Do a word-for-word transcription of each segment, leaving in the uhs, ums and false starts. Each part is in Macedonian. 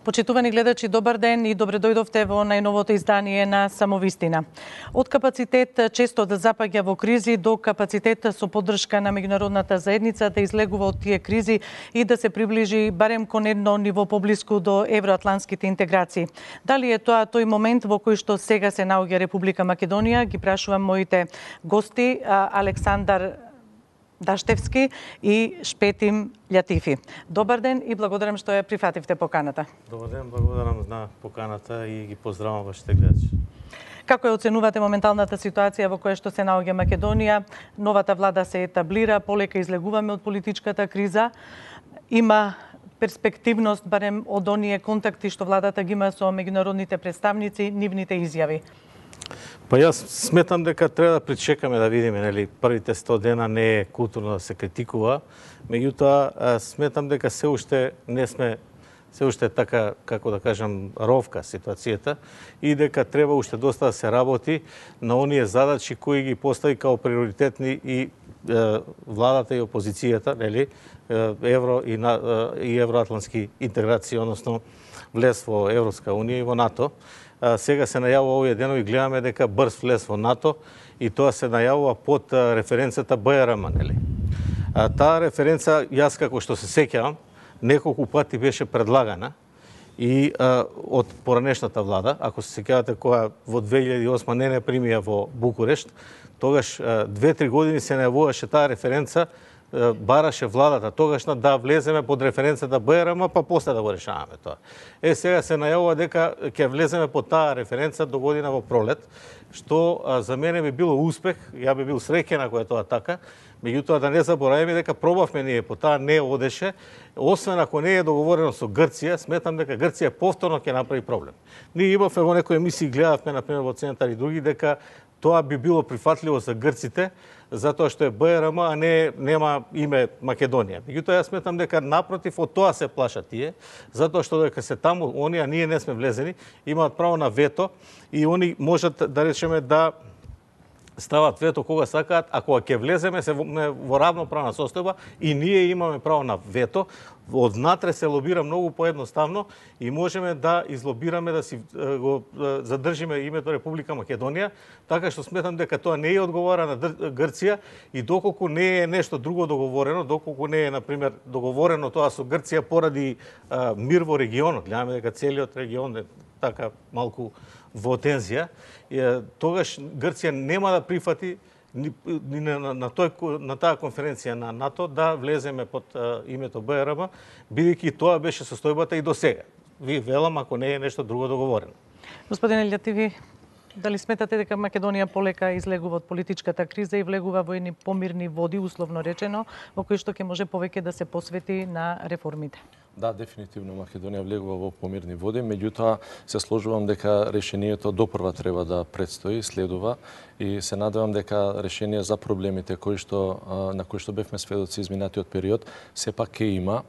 Почитувани гледачи, добар ден и добре дојдовте во најновото издание на Самовистина. Од капацитет често да запаѓа во кризи до капацитет со поддршка на меѓународната заедница да излегува од тие кризи и да се приближи барем кон едно ниво поблиску до евроатлантските интеграции. Дали е тоа тој момент во кој што сега се наоѓа Република Македонија? Ги прашувам моите гости Александар Даштевски и Шпетим Љатифи. Добар ден и благодарам што ја прифативте поканата. Добар ден, благодарам на поканата и ги поздравам вашите гледачи. Како ја оценувате моменталната ситуација во која што се наоѓа Македонија? Новата влада се етаблира, полека излегуваме од политичката криза. Има перспективност, барем од оние контакти што владата ги има со меѓународните представници, нивните изјави? Па јас сметам дека треба да причекаме да видиме, нели, првите сто дена не е културно да се критикува, меѓутоа сметам дека се уште не сме се уште така, како да кажам, ровка ситуацијата и дека треба уште доста да се работи на оние задачи кои ги постави као приоритетни и е, владата и опозицијата, нели, евро и, на, и евроатлантски интеграции, односно влез во Европска унија и во НАТО. Сега се најавува овие денови, гледаме дека брз влез во НАТО и тоа се најавува под референцата Б Р М, нели. Таа референца, јас како што се сеќавам, неколку пати беше предлагана и а, од поранешната влада, ако се сеќавате која во две илјади и осма не не примија во Букурешт, тогаш две-три години се најавуваше таа референца, бараше владата тогашна да влеземе под референцата Б Р М, па после да го решаваме тоа. Е, сега се најавува дека ќе влеземе под таа референца до година во пролет, што а, за мене би било успех, ја би бил среќен ако е тоа така, меѓутоа да не забораваме дека пробавме ние, по таа не одеше, освен ако не е договорено со Грција, сметам дека Грција повторно ќе направи проблем. Ние имавме во некои емисии, гледавме, например, во Центар и други, дека тоа би било прифатливо за грците, затоа што е Б Р М, а не нема име Македонија. Меѓутоа јас сметам дека напротив од тоа се плашат тие, затоа што дека се таму оние, а ние не сме влезени, имаат право на вето и они можат да речеме да стават вето кога сакаат, а кога ќе влеземе се во, во равноправна состојба и ние имаме право на вето, однатре се лобира многу поедноставно и можеме да излобираме да си го задржиме името Република Македонија, така што сметам дека тоа не е одговора на Грција и доколку не е нешто друго договорено, доколку не е, например, договорено тоа со Грција поради а, мир во регионот, гледаме дека целиот регион е така малку во тензија, тогаш Грција нема да прифати ни, ни на, на, тој, на таа конференција на НАТО да влеземе под а, името Б Р М, бидејќи тоа беше состојбата и до сега. Ви велам ако не е нешто друго договорено. Господине Љатифи, дали сметате дека Македонија полека излегува од политичката криза и влегува во едни помирни води, условно речено, во кои што ќе може повеќе да се посвети на реформите? Да, дефинитивно Македонија влегува во помирни води, меѓутоа се сложувам дека решението допрва треба да предстои, следува и се надевам дека решение за проблемите кои што на кои што бевме сведоци изминатиот период сепак ќе има,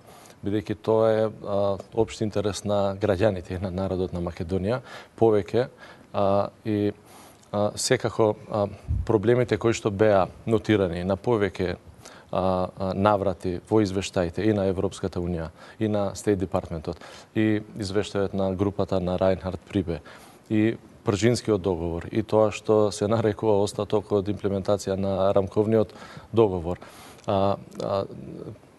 бидејќи тоа е а, општ интерес на граѓаните и на народот на Македонија, повеќе а, и а, секако а, проблемите кои што беа нотирани на повеќе наврати во извештаите и на Европската Унија, и на Стейт Департментот, и извештајот на групата на Рајнхард Прибе, и Пржинскиот договор, и тоа што се нарекува остаток од имплементација на рамковниот договор. А, а,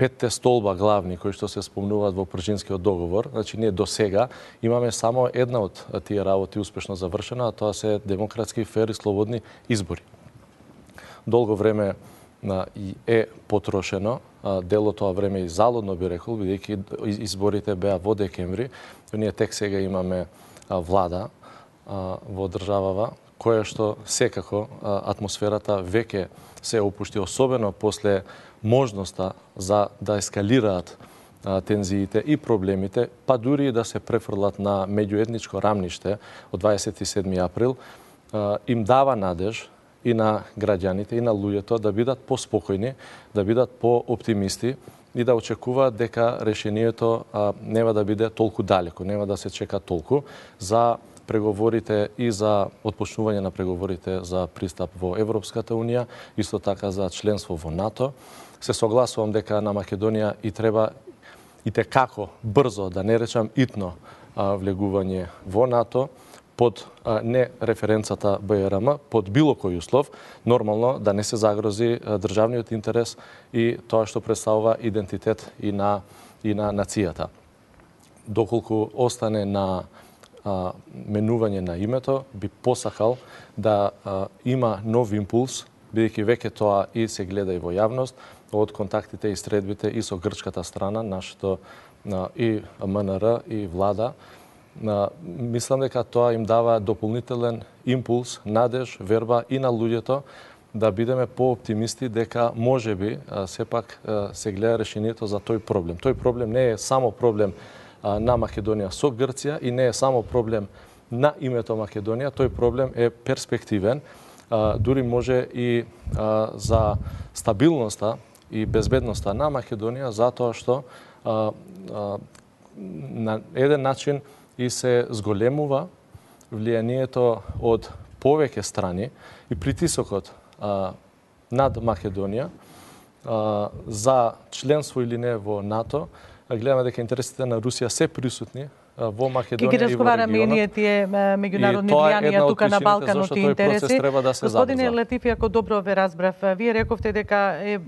петте столба главни кои што се спомнуваат во Пржинскиот договор, значи ние до сега имаме само една од тие работи успешно завршена, а тоа се демократски, фер и слободни избори. Долго време е потрошено, дел од тоа време и залудно би рекол, бидејќи изборите беа во декември, ние тек сега имаме влада во државава, која што секако атмосферата веќе се опушти, особено после можноста за да ескалираат тензиите и проблемите, па дури и да се префрлат на меѓуетничко рамниште од дваесет и седми април, им дава надеж и на граѓаните, и на луѓето да бидат поспокојни, да бидат по-оптимисти и да очекуваат дека решението а, нема да биде толку далеко, нема да се чека толку за преговорите и за отпочнување на преговорите за пристап во Европската Унија, исто така за членство во НАТО. Се согласувам дека на Македонија и треба и те како брзо, да не речам итно, влегување во НАТО под не референцата Б Р М, под било кој услов, нормално да не се загрози државниот интерес и тоа што представува идентитет и на и на нацијата. Доколку остане на а, менување на името, би посакал да а, има нов импулс, бидејќи веќе тоа и се гледа и во јавност, од контактите и средбите и со грчката страна, нашето а, и М Н Р и влада. А, мислам дека тоа им дава дополнителен импулс, надеж, верба и на луѓето да бидеме по-оптимисти дека можеби сепак се гледа решението за тој проблем. Тој проблем не е само проблем на Македонија со Грција и не е само проблем на името Македонија, тој проблем е перспективен, дури може и за стабилноста и безбедноста на Македонија, затоа што на еден начин и се зголемува влијанието од повеќе страни и притисокот над Македонија за членство или не во НАТО. Гледаме дека интересите на Русија се присутни во Македонија и во регионот. Ке ги разговараме и ние тие меѓународни влијанија тука на Балканот и интереси. Да Господине Латифи, ако добро ве разбрав, вие рековте дека е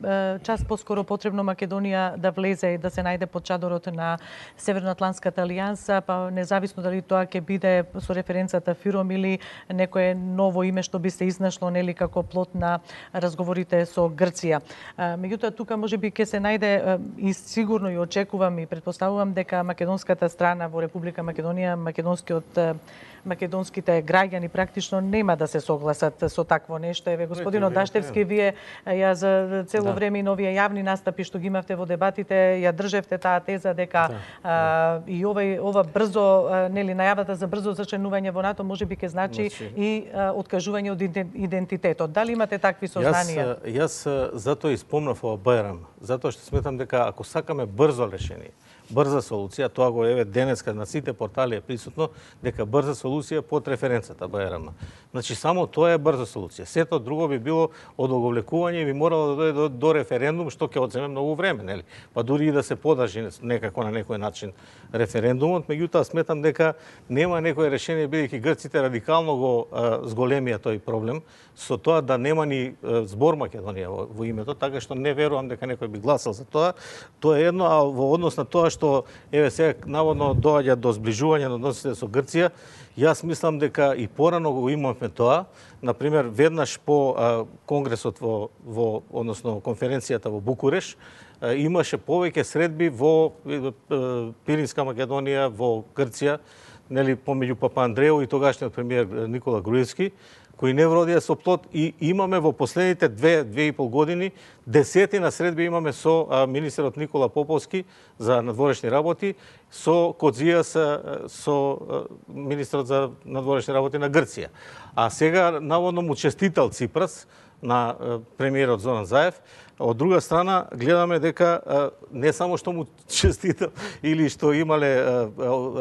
час поскоро потребно Македонија да влезе и да се најде под чадорот на Северноатлантската алијанса, па независно дали тоа ќе биде со референцата ФИРОМ или некое ново име што би се изнашло нели како плод на разговорите со Грција. Меѓутоа тука можеби ќе се најде и сигурно и очекувам и претпоставувам дека македонската страна во Република Македонија, македонскиот македонските граѓани практично нема да се согласат со такво нешто. Еве господино Даштевски, вие ја за цело да. време и новија јавни настапи што ги имавте во дебатите, ја држевте таа теза дека да. а, и овај ова брзо нели најавата за брзо зачленување во НАТО можеби ќе значи Значи. и а, откажување од идентитетот. Дали имате такви сознанија? Јас, јас затоа и спомнав ова Б Р М, затоа што сметам дека ако сакаме брзо решение, брза солуција, тоа го еве денеска на сите портали е присутно дека брза солуција под референцата Б Р М. Значи само тоа е брза солуција. Сето друго би било одоговлекување и би морало да дојде до, до референдум што ќе одземе многу време, нели? Па дури и да се подржи некако на некој начин референдумот, меѓутоа сметам дека нема некое решение бидејќи грците радикално го а, зголемија тој проблем со тоа да нема ни а, збор Македонија во, во името, така што не верувам дека некој би гласал за тоа. Тоа е едно, а во однос на тоа што еве сега наводно доаѓа до зближување на односите со Грција, јас мислам дека и порано го имавме тоа. Например, веднаш по а, конгресот во, во односно конференцијата во Букуреш, а, имаше повеќе средби во а, Пиринска Македонија, во Грција, нели помеѓу Папа Андрео и тогашниот премиер Никола Груевски, кои не вродија со плод, и имаме во последните две, две и пол години десетина средби имаме со а, министерот Никола Поповски за надворешни работи, со Кодзијас, со а, министерот за надворешни работи на Грција. А сега наводно му честитал Ципрас на а, премиерот Зоран Заев. Од друга страна, гледаме дека а, не само што му честитал или што имале а,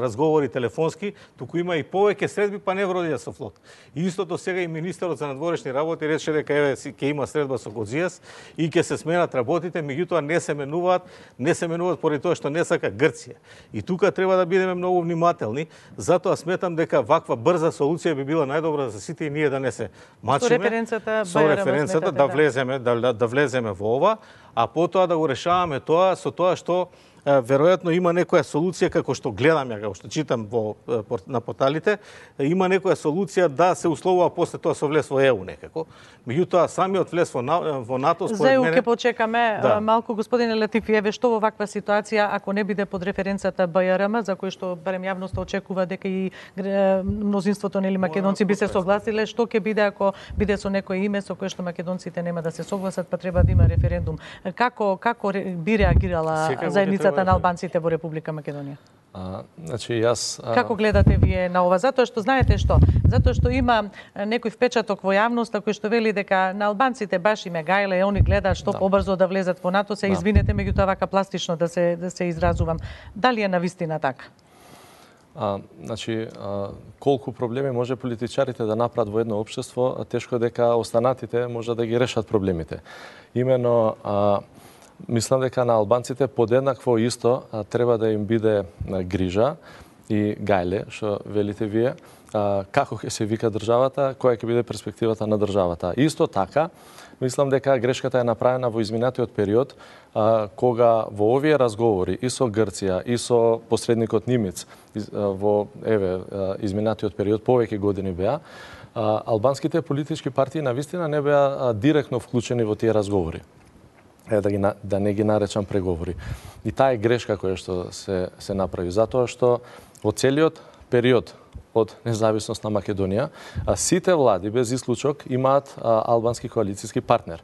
разговори телефонски, туку има и повеќе средби, па не вродија со флот. И истото сега и министерот за надворешни работи рече дека еве ќе има средба со Кодзијас и ќе се сменат работите, меѓутоа не се менуваат, не се менуваат поради тоа што не сака Грција. И тука треба да бидеме многу внимателни, затоа сметам дека ваква брза солуција би била најдобра за сите и ние да не се мачиме. Со референцата, со референцата да влеземе, да, да, да влеземе во ова, а потоа да го решаваме тоа со тоа што веројатно има некоја солуција, како што гледам ја, како што читам во, на порталите, има некоја солуција да се условува после тоа со влез во Е У некако. Меѓутоа самиот влез во, во НАТО според мене... За Е У мене... ќе почекаме да. малку, господине Латифи, еве што во ваква ситуација, ако не биде под референцата Б Р М, за кој што барем јавноста очекува дека и мнозинството нели македонци би се согласиле, што ќе биде ако биде со некој име со кое што македонците нема да се согласат, па треба да има референдум. Како како би реагирала заедницата на албанците во Република Македонија? А, значи јас а... Како гледате вие на ова? Затоа што знаете што? Затоа што има некој впечаток во јавноста кој што вели дека на албанците баш им е гајле, и они гледаат што да. побрзо да влезат во НАТО, се да. извинете, меѓутоа вака пластично да се да се изразувам. Дали е навистина така? А, значи, а, колку проблеми може политичарите да направат во едно општество, тешко дека останатите може да ги решат проблемите. Имено а, мислам дека на албанците подеднакво исто а, треба да им биде а, грижа и гајле, што велите вие, како ќе се вика државата, која ќе биде перспективата на државата. Исто така, мислам дека грешката е направена во изминатиот период, кога во овие разговори и со Грција, и со посредникот Нимец, во еве изминатиот период, повеќе години беа, албанските политички партии навистина не беа директно вклучени во тие разговори. Е, да, ги, да не ги наречам преговори. И таа е грешка која што се, се направи, затоа што во целиот период од независност на Македонија, сите влади без исклучок имаат албански коалициски партнер.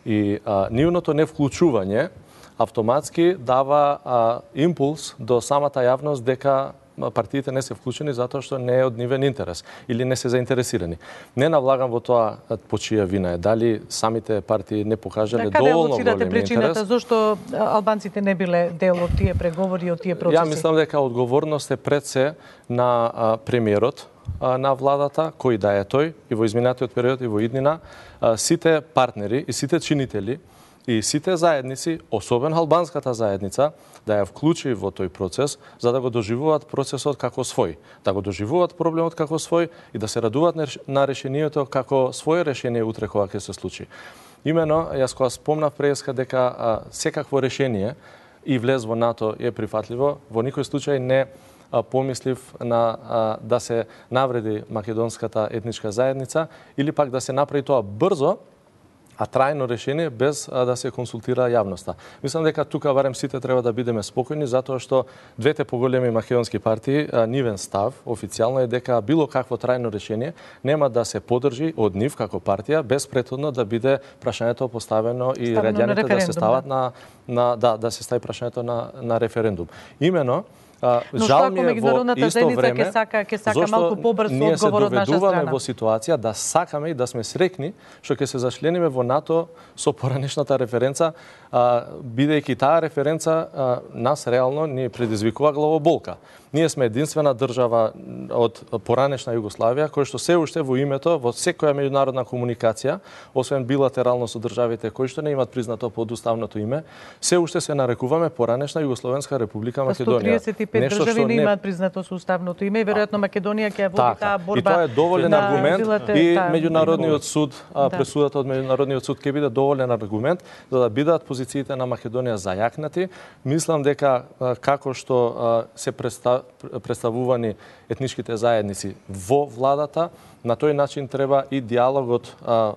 И а, нивното невклучување автоматски дава а, импулс до самата јавност дека партиите не се вклучени затоа што не е од нивен интерес или не се заинтересирани. Не навлагам во тоа по чија вина е. Дали самите партии не покажале да, доволно голем интерес? Каде причината интерес? Зошто албанците не биле дел од тие преговори, од тие процеси? Ја мислам дека одговорност е пред се на а, премиерот а, на владата, кој да е тој, и во изминатиот период и во иднина, а, сите партнери и сите чинители и сите заедници, особено албанската заедница, да ја вклучи во тој процес, за да го доживуваат процесот како свој, да го доживуваат проблемот како свој и да се радуваат на решението како своје решение утре кога ќе се случи. Имено, јас кога спомнав преска дека а, секакво решение и влез во НАТО е прифатливо, во никој случај не а, помислив на а, да се навреди македонската етничка заедница или пак да се направи тоа брзо, а трајно решение без а, да се консултира јавноста. Мислам дека тука барем сите треба да бидеме спокојни, затоа што двете поголеми македонски партии, а, нивен став официјално е дека било какво трајно решение нема да се подржи од нив како партија без претходно да биде прашањето поставено и граѓаните да се стават да. на на да да се стави прашањето на на референдум. Имено А, Но жал ми е во исто време, ќе сака, ќе сака малку побрз одговор од наша страна. Ние се доведуваме во ситуација да сакаме и да сме срекни што ќе се зачлениме во НАТО со поранешната референца, а, бидејќи таа референца а, нас реално ни предизвикува главоболка. Ние сме единствена држава од поранешна Југославија која што се уште во името во секоја меѓународна комуникација, освен билатерално со државите кои што не имаат признато подуставното име, се уште се нарекуваме поранешна Југословенска република Македонија. сто триесет и пет држави не имаат признато со уставното име и веројатно Македонија ќе води така, таа борба. И тоа е доволен на аргумент билате, и та, меѓународниот суд, а, да. пресудата од меѓународниот суд ќе биде доволен аргумент за да бидат позициите на Македонија зајакнати. Мислам дека а, како што а, се представ, представувани етничките заедници во владата, на тој начин треба и диалогот а,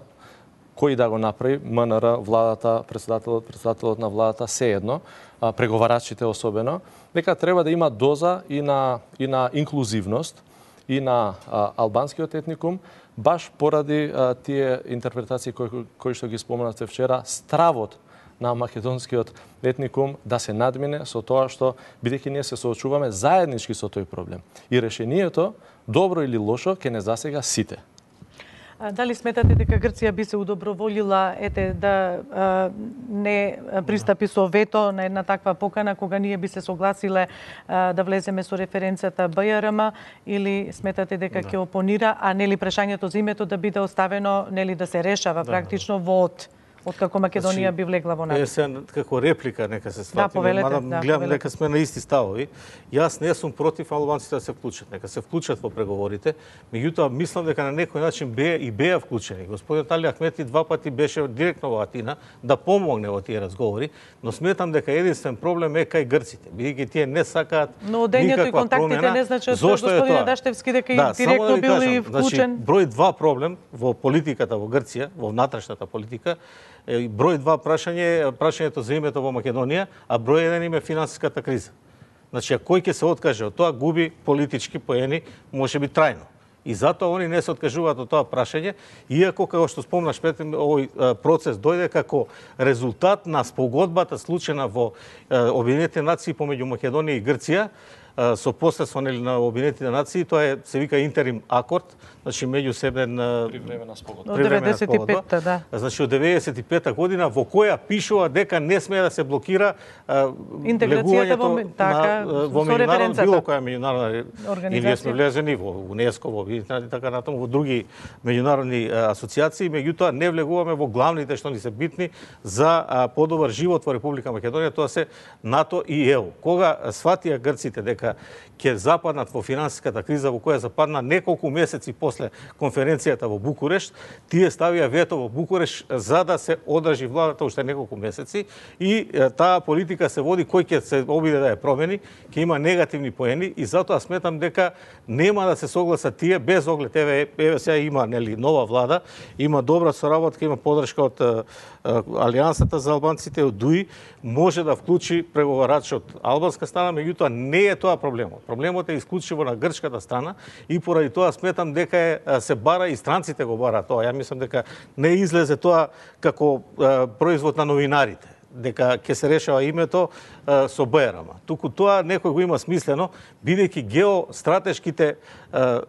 кој да го направи, МНР, владата, председателот, председателот на владата, се едно, преговарачите особено, дека треба да има доза и на, и на инклузивност и на а, албанскиот етникум, баш поради а, тие интерпретации кои, кои што ги спомнавте вчера, стравот на македонскиот етникум да се надмине со тоа што, бидејќи ние се соочуваме заеднички со тој проблем. И решението, добро или лошо, ќе не засега сите. А, дали сметате дека Грција би се удоброволила ете да а, не пристапи со вето на една таква покана кога ние би се согласиле а, да влеземе со референцијата БЈРМ или сметате дека ќе опонира, а нели прашањето за името да биде оставено, нели да се решава практично во од откако Македонија значи, би влегла во НАТО? Е, се, како реплика нека се сватиме, да, повелете, мада да, гледам повелете. дека сме на исти ставови. Јас не сум против албанците да се вклучат, нека се вклучат во преговорите, меѓутоа мислам дека на некој начин беа и беа вклучени. Господин Али Ахмети два пати беше директно во Атина да помогне во тие разговори, но сметам дека единствен проблем е кај грците, бидејќи тие не сакаат но одењето и контактите промена. не значат Зошто господин тоа? Дашевски дека да, и директно да бил и кажам, вклучен. Значи, број два проблем во политиката во Грција, во внатрешната политика, број два прашање е прашањето за името во Македонија, а број еден им е финансиската криза. Значи, кој ќе се откаже од тоа, губи политички поени, можеби трајно. И затоа они не се откажуваат од тоа прашање, иако, како што спомнаш, овој процес дојде како резултат на спогодбата случена во Обединетите нации помеѓу Македонија и Грција, со посредство на Обединетите нации, тоа е се вика интерим акорд, значи меѓусебен привремена спогодба. Од деветдесет и петта, да. Значи од деветдесет и петта година во која пишува дека не смее да се блокира интеграцијата во така во меѓународна било која меѓународна организација. И ние сме влезени во УНЕСКО, во и така натаму во други меѓународни асоциации, меѓутоа не влегуваме во главните што ни се битни за подобар живот во Република Македонија, тоа се НАТО и ЕУ. Кога сватија грците дека дека ќе западнат во финансиската криза во која западна неколку месеци после конференцијата во Букурешт, тие ставија вето во Букурешт за да се одржи владата уште неколку месеци и таа политика се води кој ќе се обиде да ја промени, ќе има негативни поени и затоа сметам дека нема да се согласат тие без оглед еве еве сега има нели нова влада, има добра соработка, има поддршка од Алијансата за албанците од ДУИ, може да вклучи преговарач од албанска страна, меѓутоа не е тоа проблемот. Проблемот е исклучиво на грчката страна и поради тоа сметам дека е, се бара и странците го бара тоа. Ја мислам дека не излезе тоа како е, производ на новинарите, дека ќе се решава името е, со БРМ. Туку тоа некој го има смислено, бидејќи геостратешките е,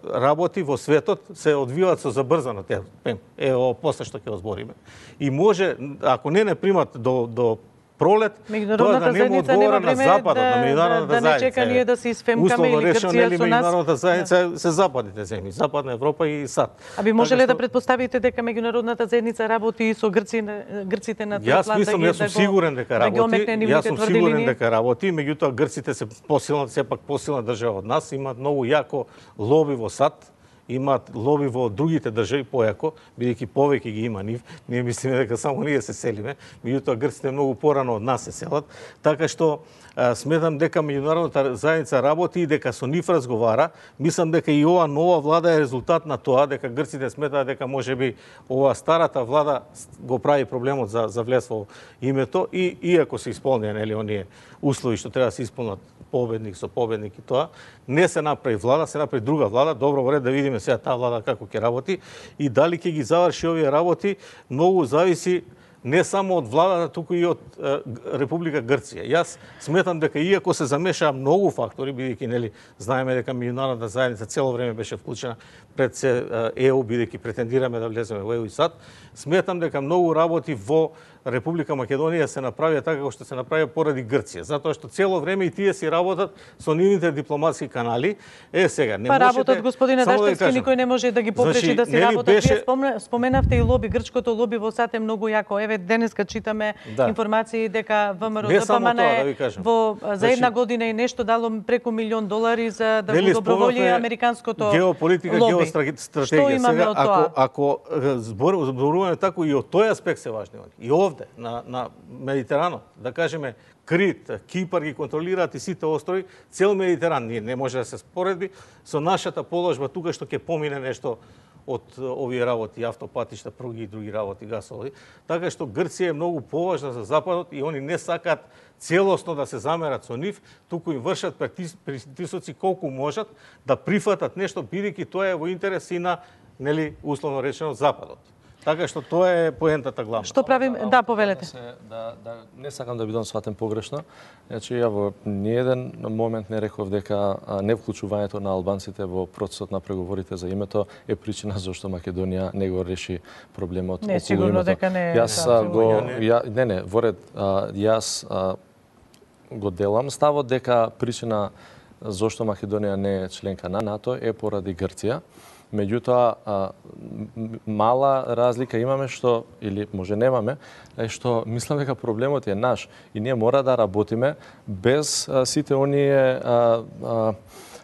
работи во светот се одвиваат со забрзано темп. Ево после што ќе озбориме. И може, ако не не примат до до пролет, тоа да нема одговора на Западот, да, на меѓународната да, да не чека ние да се исфемкаме или Грција со нас. Меѓународната заедница се западните земји, Западна Европа и САД. А би можеле да предпоставите дека меѓународната заедница работи и со грци, грците на тој план? Јас мислам, јас сум сигурен дека работи. Јас сум сигурен дека работи, меѓутоа грците се посилна, сепак посилна држава од нас, имаат многу јако лоби во САД, имаат лоби во другите држави појако, бидејќи повеќе ги има нив. Ние мислиме дека само ние се селиме, меѓутоа грците многу порано од нас се селат, така што а, сметам дека меѓународната заедница работи и дека со нив разговара. Мислам дека и ова нова влада е резултат на тоа, дека грците сметаат дека можеби ова старата влада го прави проблемот за за влез во името и иако се исполнија нели оние услови што треба да се исполнат победник со победник и тоа, не се направи влада, се направи друга влада. Добро во ред да видиме сега таа влада како ќе работи и дали ќе ги заврши овие работи, многу зависи не само од владата, туку и од е, Република Грција. Јас сметам дека иако се замешаа многу фактори, бидејќи нели знаеме дека меѓународната заедница цело време беше вклучена пред се ЕУ, бидејќи претендираме да влеземе во ЕУ и САД, сметам дека многу работи во Република Македонија се направија така како што се направија поради Грција, затоа што цело време и тие си работат со нивните дипломатски канали. Е сега не па можете. Работат господине Даштевски, да никој не може да ги попречи значи, да си работат. Беше... Вие споменавте и лоби, грчкото лоби во САД е многу јако. Еве денеска читаме да. информации дека ВМРО ДПМН е да во за значи, една година и нешто дало преку милион долари за да го доброволи американското геополитика, лоби. Геостратегија. Што имаме сега, од тоа? Ако ако зборуваме тако и од тој аспект се важни. И овде на на Медитеранот, да кажеме Крит, Кипар ги контролираат и сите острови, цел Медитеран ние не може да се споредби со нашата положба тука што ќе помине нешто од овие работи, автопатишта, пруги и други работи, гасови. Така што Грција е многу поважна за Западот и они не сакаат целосно да се замерат со нив, туку им вршат притисоци колку можат да прифатат нешто, бидејќи тоа е во интерес и на, нели, условно речено, Западот. Така што тоа е поентата главна. Што правим? Да, да повелете. Да, да, да, не сакам да бидам сватен погрешно. Значи, ја во ниеден момент не реков дека невклучувањето на албанците во процесот на преговорите за името е причина зашто Македонија не го реши проблемот не, околу сигурно името. дека не е. Јас да, го ја, не не, во ред, јас а, го делам ставот дека причина зашто Македонија не е членка на НАТО е поради Грција. Меѓутоа, мала разлика имаме што, или може немаме, е што мислам дека проблемот е наш и ние мора да работиме без а, сите оние а,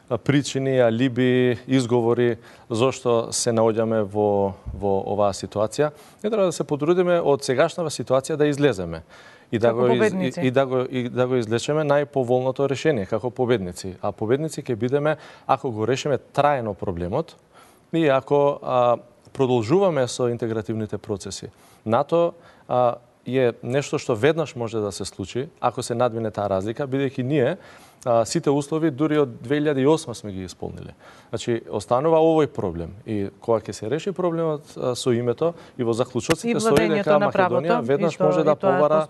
а, причини, алиби, изговори зошто се наоѓаме во, во оваа ситуација. Не треба да се потрудиме од сегашната ситуација да излеземе. И да, го из, и, и, да го, и да го излечеме најповолното решение како победници. А победници ќе бидеме ако го решиме трајно проблемот, и ако а, продолжуваме со интегративните процеси. НАТО а, е нешто што веднаш може да се случи, ако се надмине таа разлика, бидејќи ние а, сите услови дури од две илјади и осма сме ги исполниле. Значи, останува овој проблем. И кога ќе се реши проблемот а, со името и во заклучоците стои дека Македонија веднаш може да побара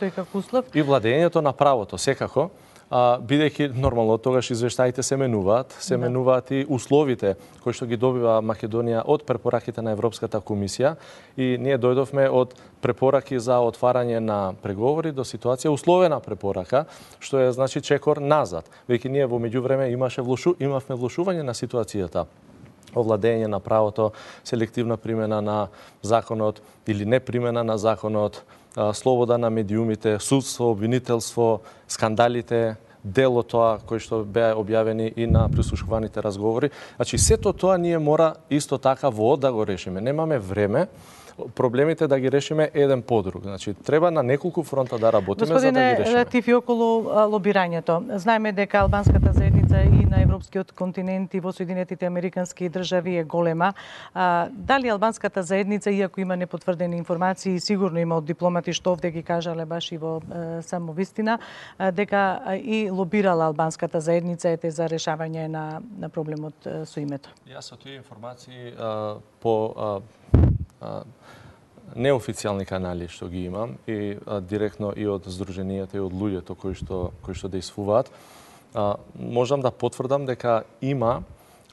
и владењето на правото, секако. А, бидејќи нормално тогаш извештаите се менуваат, се да. менуваат и условите кои што ги добива Македонија од препораките на Европската комисија и ние дојдовме од препораки за отварање на преговори до ситуација условена препорака, што е значи чекор назад. Веќе ние во меѓувреме имаше влошу, имавме влошување на ситуацијата. Овладење на правото, селективна примена на законот или не примена на законот, слобода на медиумите, судство, обвинителство, скандалите дел од тоа кои што беа објавени и на прислушуваните разговори. Значи сето тоа ние мора исто така во да го решиме. Немаме време проблемите да ги решиме еден по друг. Значи треба на неколку фронта да работиме Господине, за да ги решиме. Тифи, околу лобирањето. Знаеме дека албанската заедница и на европскиот континент и во Соединетите американски држави е голема. А, дали албанската заедница, иако има непотврдени информации, сигурно има од дипломати што овде ги кажале баш и во е, само вистина, дека и лобирала албанската заедница ете за решавање на, на проблемот е, со името? Јас со тие информации а, по а, а, неофицијални канали што ги имам и а, директно и од здруженијата и од луѓето кои што кои што действуваат, а, можам да потврдам дека има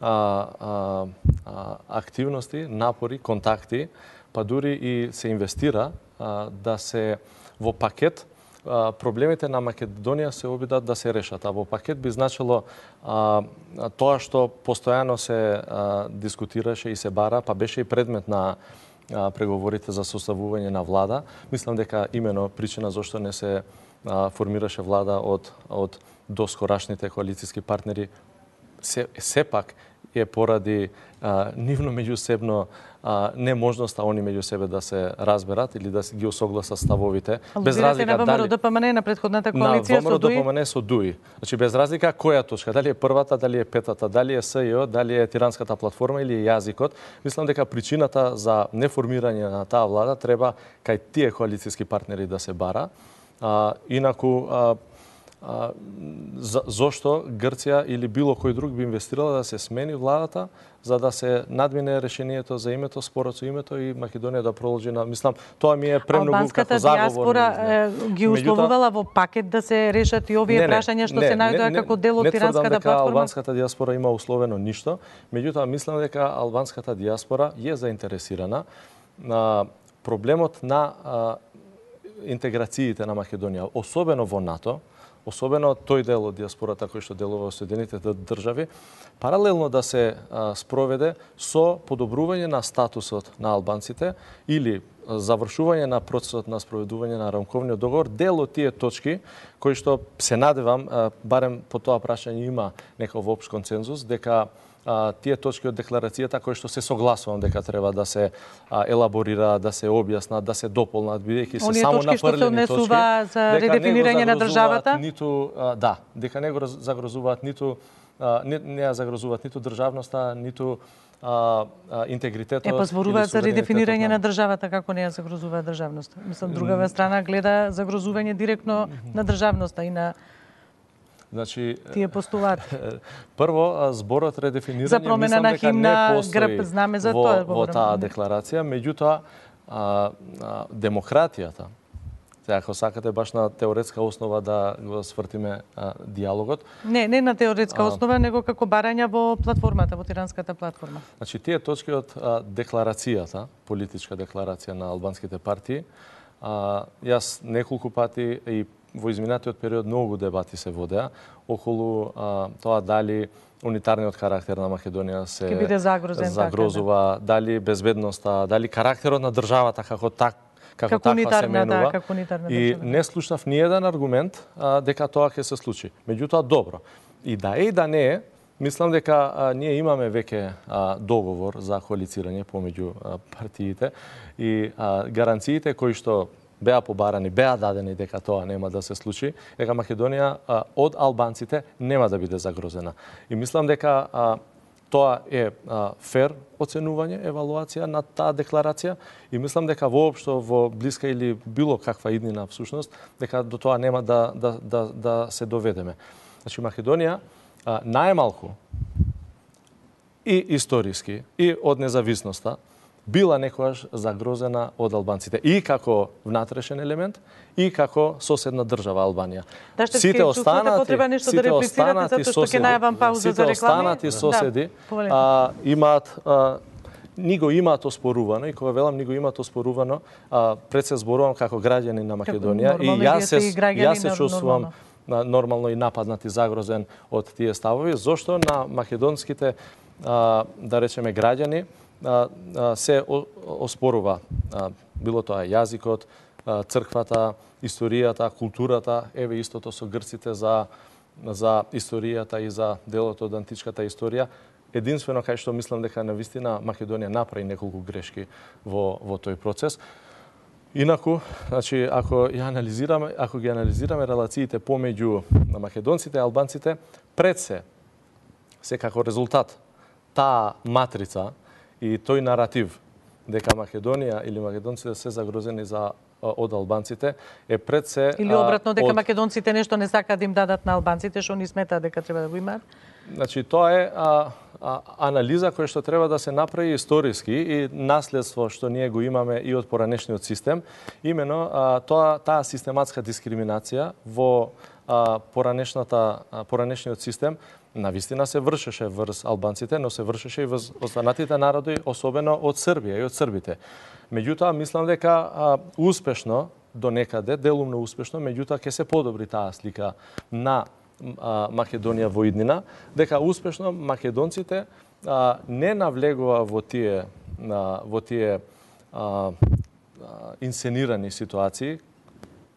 а, а, а, активности, напори, контакти, па дури и се инвестира а, да се во пакет а, проблемите на Македонија се обидат да се решат. А во пакет би значило а, тоа што постојано се а, дискутираше и се бара, па беше и предмет на преговорите за составување на влада. Мислам дека имено причина зашто не се а, формираше влада од од доскорашните коалициски партнери се сепак е поради а, нивно меѓусебно а, неможноста они меѓу себе да се разберат или да ги осогласат ставовите. Без разлика на ВМРО ДПМН на претходната коалиција со ДУИ. На ВМРО ДПМН со ДУИ. Значи без разлика која точка, дали е првата, дали е петата, дали е СЈО, дали е тиранската платформа или е јазикот, мислам дека причината за неформирање на таа влада треба кај тие коалициски партнери да се бара. А, инаку а, А, за, зошто Грција или било кој друг би инвестирала да се смени владата за да се надмине решението за името, спорот со името и Македонија да продолжи на, мислам, тоа ми е премногу како заговор. Албанската диаспора ги условувала во пакет да се решат и овие прашања што не, се најдоа како дел од тиранската платформа? Не, албанската диаспора има условено ништо, меѓутоа мислам дека албанската диаспора е заинтересирана на проблемот на а, интеграциите на Македонија, особено во НАТО, особено тој дел од диаспората кој што делува во Соединетите држави, паралелно да се а, спроведе со подобрување на статусот на албанците или завршување на процесот на спроведување на рамковниот договор, дел од тие точки кои што се надевам, а, барем по тоа прашање има некој општ консензус, дека А, тие точки од декларацијата кои што се согласувам дека треба да се а, елаборира, да се објаснат, да се дополнат, бидејќи се само напрлени точки. Оние точки што се однесува за редефинирање на државата? Ниту, а, да, дека не го загрозуваат ниту а, не, не ја загрозуваат ниту државноста, ниту а, а, интегритетот. Е, па зборуваат за редефинирање на државата, како не ја загрозуваат државноста. Мислам, другава страна гледа загрозување директно на државноста и на Значи, тие постулати. Прво, зборот редефинирање за промена на химна, грб, знаме за во, тоа. Во таа декларација, меѓутоа, а, а, демократијата, сега ако сакате баш на теоретска основа да го свртиме а, диалогот. Не, не на теоретска а, основа, него како барања во платформата, во тиранската платформа. Значи, тие точки од а, декларацијата, политичка декларација на албанските партии, а, јас неколку пати и во изминатиот период многу дебати се водеа околу а, тоа дали унитарниот карактер на Македонија се загрозен, загрозува, така, да. Дали безбедноста, дали карактерот на државата како так како, како таква се менува. Да, како и не слушнав ни еден аргумент а, дека тоа ќе се случи. Меѓутоа добро. И да е и да не е, мислам дека а, ние имаме веќе а, договор за коалицирање помеѓу а, партиите и а, гаранциите кои што беа побарани, беа дадени дека тоа нема да се случи, дека Македонија а, од албанците нема да биде загрозена. И мислам дека а, тоа е а, фер оценување, евалуација на таа декларација и мислам дека воопшто во блиска или било каква иднина всушност, дека до тоа нема да, да, да, да се доведеме. Значи Македонија а, најмалку и историски и од независноста била некогаш загрозена од албанците и како внатрешен елемент и како соседна држава Албанија. Да, сите останати, сите да останати соседи, сите останати соседи да, а, имаат а, ни го имаат оспорувано и кога велам ни го имаат оспорувано, а, пред се зборувам како граѓани на Македонија и јас се јас се чувствувам нормално и нападнат и загрозен од тие ставови, зошто на македонските а, да речеме граѓани се оспорува било тоа јазикот, црквата, историјата, културата, еве истото со грците за за историјата и за делот од античката историја. Единствено кај што мислам дека навистина Македонија направи неколку грешки во во тој процес. Инаку, значи, ако ја анализираме, ако ги анализираме релациите помеѓу македонците и албанците, пред се, секако резултат, таа матрица и тој наратив дека Македонија или македонците се загрозени за од албанците е пред се или обратно дека од... македонците нешто не сакаат да им дадат на албанците што они сметаат дека треба да го имаат. Значи тоа е а, а, анализа која што треба да се направи историски и наследство што ние го имаме и од поранешниот систем, имено а, тоа таа систематска дискриминација во а, поранешната а, поранешниот систем навистина се вршеше врз албанците, но се вршеше и врз останатите народи, особено од Србија и од србите. Меѓутоа, мислам дека а, успешно, до некаде, делумно успешно, меѓутоа ќе се подобри таа слика на а, Македонија во иднина, дека успешно македонците а, не навлегува во тие, а, во тие а, а, инсценирани ситуации.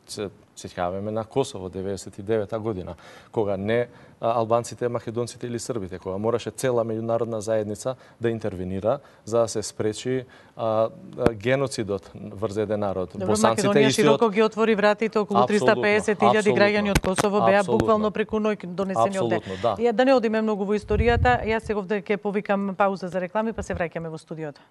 Се сеќаваме на Косово деветдесет и девета година, кога не албанците, македонците или србите, кога мораше цела меѓународна заедница да интервенира за да се спречи а, геноцидот врз еден народ. Добро, Босанците Македонија широко ги отвори вратите, околу триста пеесет илјади граѓани од Косово беа буквално преку ноќ донесени од Апсолутно, да. И да не одиме многу во историјата, јас сега овде ќе повикам пауза за реклами, па се враќаме во студиото.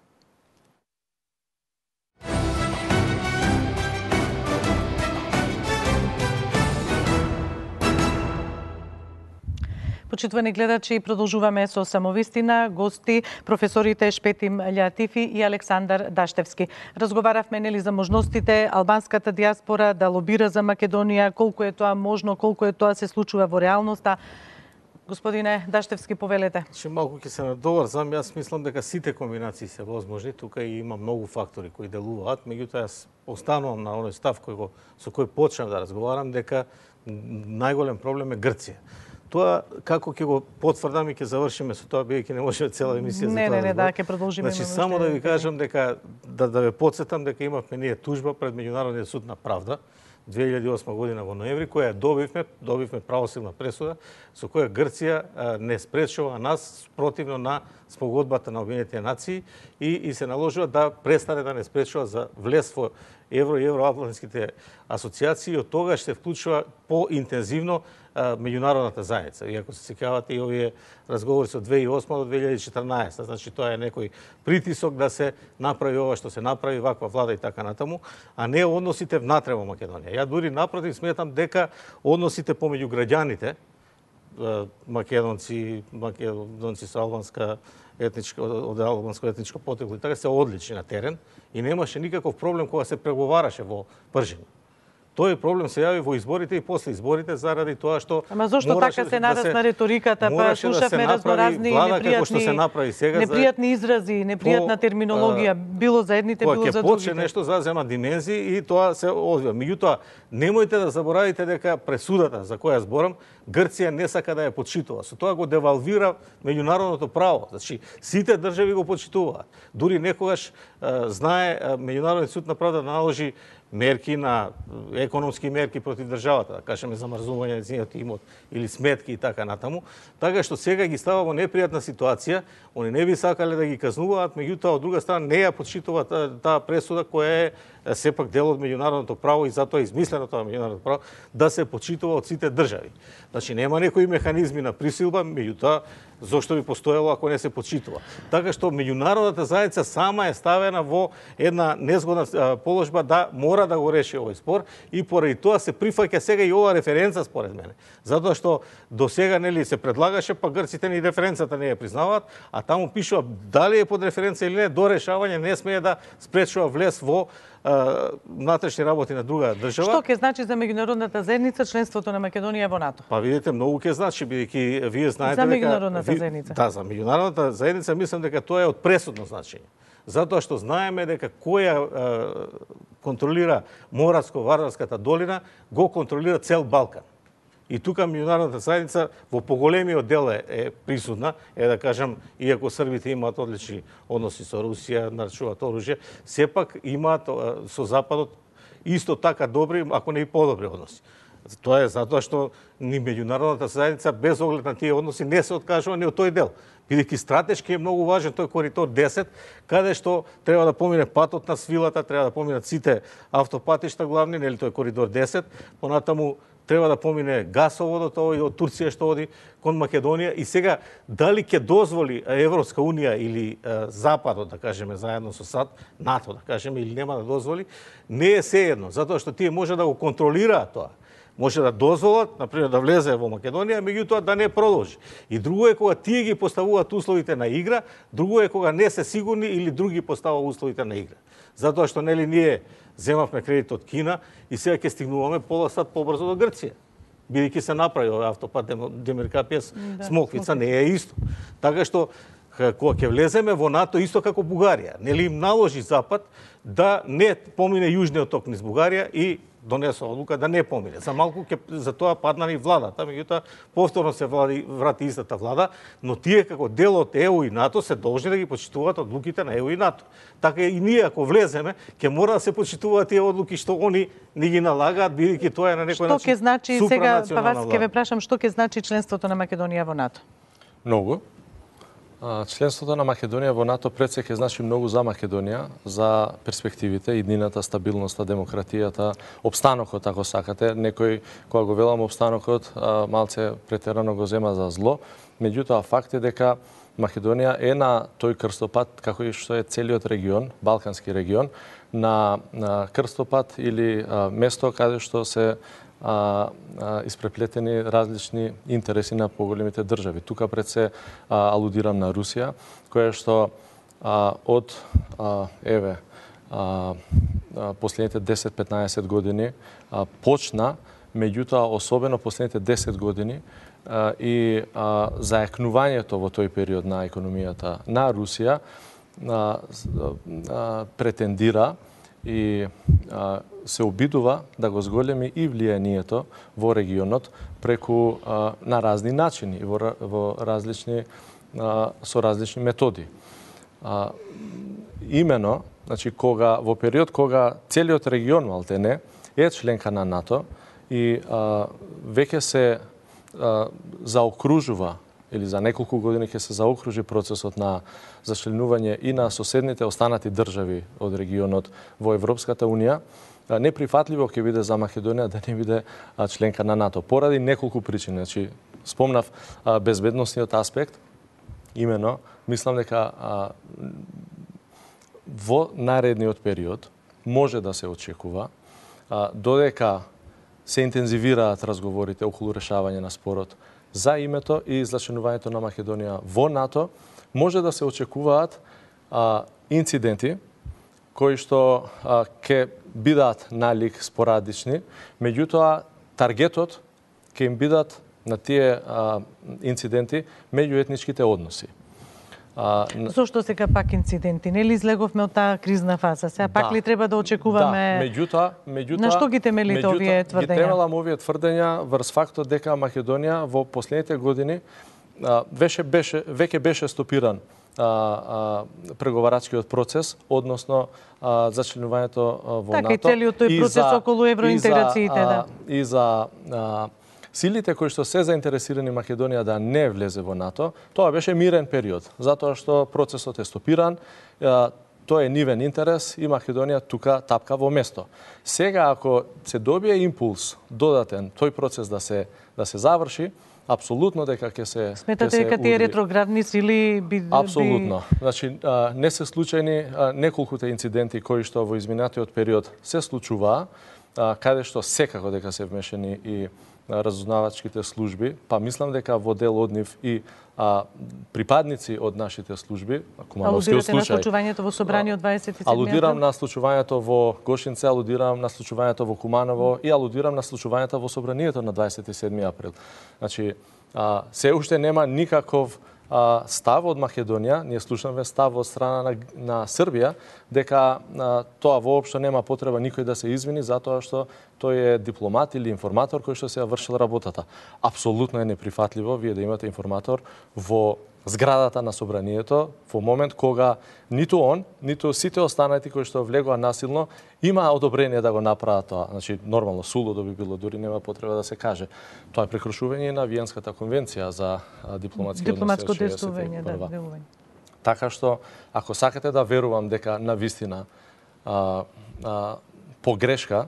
Почитувани гледачи, продолжуваме со самовистина, гости, професорите Шпетим Љатифи и Александар Даштевски. Разговаравме нели за можностите албанската диаспора да лобира за Македонија, колку е тоа можно, колку е тоа се случува во реалноста. Господине Даштевски, повелете. Че малку ќе се надоврзам, јас мислам дека сите комбинации се возможни, тука и има многу фактори кои делуваат, меѓутоа јас останувам на оној став кој го, со кој почнав да разговарам, дека најголем проблем е Грција. Тоа како ќе го потврдам и ќе завршиме со тоа, бидејќи не може цела емисија за не, тоа. Не, не, да, ќе продолжиме. Значи, само да ви кажам дека да да ве потсетам дека имавме ние тужба пред Меѓународниот суд на правда две илјади и осма година во ноември, која добивме, добивме правосилна пресуда, со која Грција а, не спречува нас противно на спогодбата на Обединетите нации и, и се наложува да престане да не спречува за влез во евро и евроатлантските асоциации и од тогаш се вклучува поинтензивно меѓународната заедница. Иако се сеќавате и овие разговори со две илјади и осма до две илјади и четрнаесета, значи тоа е некој притисок да се направи ова што се направи, ваква влада и така натаму, а не односите внатре во Македонија. Ја дури напротив сметам дека односите помеѓу граѓаните, македонци, македонци со албанска етничка, од албанско етничко потекло и така се одлични на терен и немаше никаков проблем кога се преговараше во Пржин. Тој проблем се јави во изборите и после изборите заради тоа што Ама зошто така се нарасна риториката, па слушавме разноразни непријатни сега непријатни изрази, непријатна терминологија, било за едните, било за другите. Кога ќе почне нешто зазема димензии и тоа се одвива. Меѓутоа, немојте да заборавите дека пресудата за која зборам, Грција не сака да ја почитува. Со тоа го девалвира меѓународното право. Значи, сите држави го почитуваат. Дури некогаш знае Меѓународниот суд на правда да наложи мерки на економски мерки против државата, да кажеме замрзување на незиниот имот или сметки и така натаму, така што сега ги става во непријатна ситуација, они не би сакале да ги казнуваат, меѓутоа од друга страна не ја почитуваат таа пресуда која е сепак дел од меѓународното право и затоа е измислено тоа меѓународно право да се почитува од сите држави. Значи нема некои механизми на присилба, меѓутоа зошто би постоело ако не се почитува. Така што меѓународната заедница сама е ставена во една незгодна положба да мора да го реши овој спор и поради тоа се прифаќа сега и ова референца според мене. Затоа што до сега нели се предлагаше, па грците ни референцата не ја признаваат, а таму пишува дали е под референца или не, до решавање не смее да спречува влез во внатрешни работи на друга држава. Што ќе значи за меѓународната заедница членството на Македонија во НАТО? Па видите, многу ќе значи, бидејќи вие знаете дека... За меѓународната ви... заедница? Да, за меѓународната заедница мислам дека тоа е од пресудно значење. Затоа што знаеме дека која е, контролира Моравско-Вардарската долина, го контролира цел Балкан. И тука меѓународната заедница во поголемиот дел е, е присутна, е да кажам, иако србите имаат одлични односи со Русија, нарачуваат оружје, сепак имаат со Западот исто така добри, ако не и подобри односи. Тоа е затоа што ни меѓународната заедница без оглед на тие односи не се откажува ни од тој дел. Бидејќи стратешки е многу важен тој коридор десет, каде што треба да помине патот на свилата, треба да поминат сите автопатишта главни, нели тој коридор десет, понатаму треба да помине гасоводот овој од Турција што оди кон Македонија и сега дали ќе дозволи Европска унија или е, Западот, да кажеме, заедно со САД, НАТО, да кажеме, или нема да дозволи, не е сеедно, затоа што тие може да го контролираат тоа. Може да дозволат, например, да влезе во Македонија, меѓутоа да не продолжи. И друго е кога тие ги поставуваат условите на игра, друго е кога не се сигурни или други поставува условите на игра. Затоа што нели ние земавме кредит од Кина и сега ќе стигнуваме пола сат побрзо до Грција. Бидејќи се направи овој автопат Демиркапијас да, Смоквица, не е исто. Така што кога ќе влеземе во НАТО исто како Бугарија, нели им наложи Запад да не помине јужниот ток низ Бугарија и донесе одлука да не помине. За малку ќе за тоа падна и владата, меѓутоа повторно се влади, врати истата влада, но тие како дел од Е У и НАТО се должни да ги почитуваат одлуките на Е У и НАТО. Така и ние ако влеземе, ќе мора да се почитуваат тие одлуки што они ни ги налагаат, бидејќи тоа е на некој начин. Што ќе значи сега, па вас ќе ве прашам, што ќе значи членството на Македонија во НАТО? Многу. Членството на Македонија во НАТО пред се ќе значи многу за Македонија, за перспективите, иднината, стабилноста, демократијата, обстанокот, ако сакате. Некој, кога го велам обстанокот, малце претерано го зема за зло. Меѓутоа, факт е дека Македонија е на тој крстопат, како и што е целиот регион, Балкански регион, на, на крстопат или а, место каде што се А, а, испреплетени различни интереси на поголемите држави. Тука пред се а, алудирам на Русија, која што а, од а, еве а, а, последните десет-петнаесет години а, почна, меѓутоа особено последните десет години а, и а, заекнувањето во тој период на економијата на Русија а, а, претендира и а, се обидува да го зголеми и влијанието во регионот преку а, на разни начини во, во различни а, со различни методи. А, имено, значи кога во период кога целиот регион малтене е членка на НАТО и а, веќе се а, заокружува или за неколку години ќе се заокружи процесот на зачленување и на соседните останати држави од регионот во Европската унија, неприфатливо ќе биде за Македонија да не биде членка на НАТО. Поради неколку причини. Значи, спомнав безбедносниот аспект, имено, мислам дека а, во наредниот период може да се очекува, а, додека се интензивираат разговорите околу решавање на спорот за името и зачленувањето на Македонија во НАТО, може да се очекуваат а, инциденти кои што а, ќе бидат налик спорадични, меѓутоа таргетот ќе им бидат на тие а, инциденти меѓуетничките односи. А, Зошто сега пак инциденти? Нели излеговме од таа кризна фаза? Сега пак да, ли треба да очекуваме? Да, меѓутоа, меѓутоа на што ги темелите овие тврдења? Ги темелам овие тврдења врз фактот дека Македонија во последните години а, веше беше веќе беше стопиран а, а, преговарачкиот процес, односно а, зачленувањето во така, НАТО. Така и целиот тој процес за, околу евроинтеграциите, и за, да. И за а, силите кои што се заинтересирани Македонија да не влезе во НАТО, тоа беше мирен период, затоа што процесот е стопиран, тоа е нивен интерес и Македонија тука тапка во место. Сега ако се добие импулс додатен тој процес да се да се заврши, апсолутно дека ќе се Сметате дека тие ретроградни сили би Апсолутно. Значи не се случајни неколкуте инциденти кои што во изминатиот период се случуваа, каде што секако дека се вмешани и разузнавачките служби, па мислам дека во дел од нив и а, припадници од нашите служби, Кумановскиот случај. Алудирате на случувањето во собраниот дваесет и седми Алудирам на случувањето во Гошинце, алудирам на случувањето во Куманово и алудирам на случувањето во собранието на дваесет и седми април. Значи, а, се уште нема никаков а, став од Македонија, ние слушаме став од страна на, на Србија, дека а, тоа воопшто нема потреба никој да се извини затоа што тој е дипломат или информатор кој што се ја вршил работата. Апсолутно е неприфатливо вие да имате информатор во зградата на собранието во момент кога ниту он, ниту сите останати кои што влегоа насилно имаа одобрение да го направат тоа. Значи нормално сулудо би било, дури нема потреба да се каже. Тоа е прекрушување на Виенската конвенција за дипломатски дипломатско односи. действување, да, делување. Така што ако сакате да верувам дека на вистина а, а, погрешка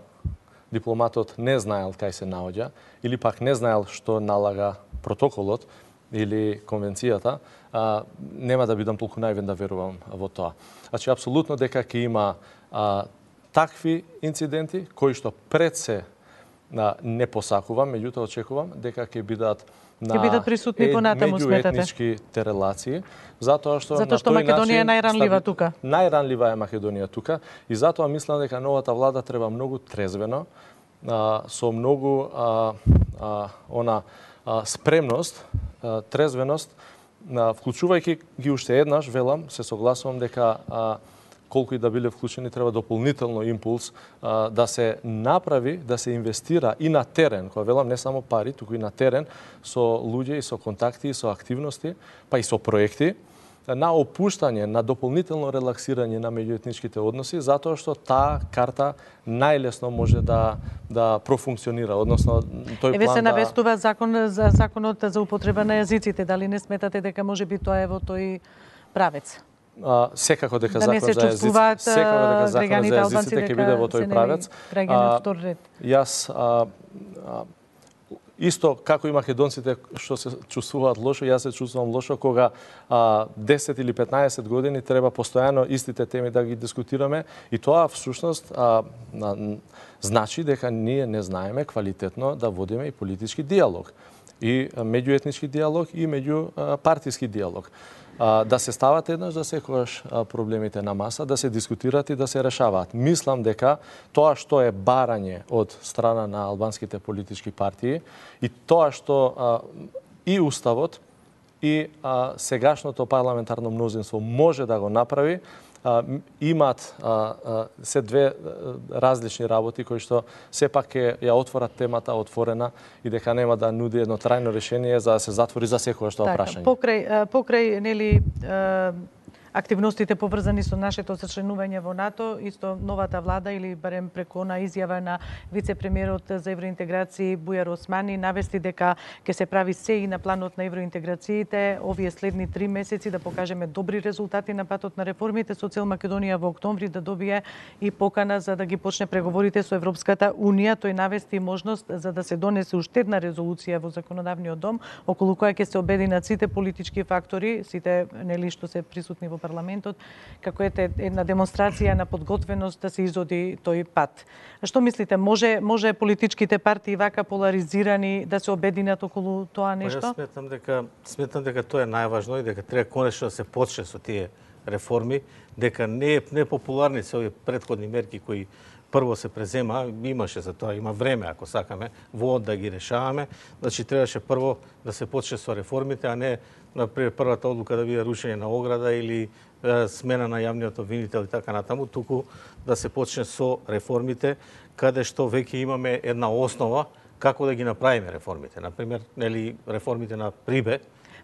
дипломатот не знаел кај се наоѓа или пак не знаел што налага протоколот или конвенцијата, а, нема да бидам толку наивен да верувам во тоа. Значи, апсолутно дека ќе има а, такви инциденти кои што пред се а, не посакувам, меѓутоа очекувам дека ќе бидат на ќе бидат присутни понатаму, сметате? меѓуетничките релации, затоа што Затоа што Македонија е најранлива тука. Најранлива е Македонија тука и затоа мислам дека новата влада треба многу трезвено, а, со многу а, а, она а, спремност, а, трезвеност, а, вклучувајќи ги уште еднаш, велам, се согласувам дека а, колку и да биле вклучени, треба дополнително импулс а, да се направи, да се инвестира и на терен, кога велам не само пари, туку и на терен, со луѓе и со контакти и со активности, па и со проекти, на опуштање, на дополнително релаксирање на меѓуетничките односи, затоа што таа карта најлесно може да да профункционира, односно тој Еве план се да... навестува закон за законот за употреба на јазиците, дали не сметате дека може би тоа е во тој правец? А, секако дека Да не закон се за чувствуваат јазиците, секако дека законот граѓаните за албанци јазиците ќе биде во тој правец. Граѓани од втор ред. Јас а, а, исто како и македонците што се чувствуваат лошо, јас се чувствувам лошо кога а, десет или петнаесет години треба постојано истите теми да ги дискутираме и тоа всушност а, а, значи дека ние не знаеме квалитетно да водиме и политички диалог, и меѓуетнички диалог и меѓупартиски диалог. Да се стават еднаш за секогаш проблемите на маса, да се дискутираат и да се решаваат. Мислам дека тоа што е барање од страна на албанските политички партии и тоа што а, и уставот и а, сегашното парламентарно мнозинство може да го направи, а, имаат а, а, се две а, различни работи кои што сепак ќе ја отворат темата отворена и дека нема да нуди едно трајно решение за да се затвори за секојаш тоа така, прашање. Покрај покрај нели активностите поврзани со нашето зачленување во НАТО, исто новата влада или барем преку она изјава на вице-премиерот за евроинтеграции Бујар Османи навести дека ќе се прави се и на планот на евроинтеграциите овие следни три месеци да покажеме добри резултати на патот на реформите со цел Македонија во октомври да добие и покана за да ги почне преговорите со Европската унија. Тој навести можност за да се донесе уште една резолуција во законодавниот дом околу која ќе се обединат сите политички фактори, сите нели што се присутни во парламентот, како е една демонстрација на подготвеност да се изоди тој пат. Што мислите, може може политичките партии вака поларизирани да се обединат околу тоа нешто? Па, јас сметам дека сметам дека тоа е најважно и дека треба конечно да се почне со тие реформи, дека не е непопуларни се овие претходни мерки кои прво се презема, имаше за тоа, има време ако сакаме во да ги решаваме, значи требаше прво да се почне со реформите, а не например првата одлука да биде рушење на ограда или е, смена на јавниот обвинител и така натаму, туку да се почне со реформите, каде што веќе имаме една основа како да ги направиме реформите. Например, нели реформите на Прибе.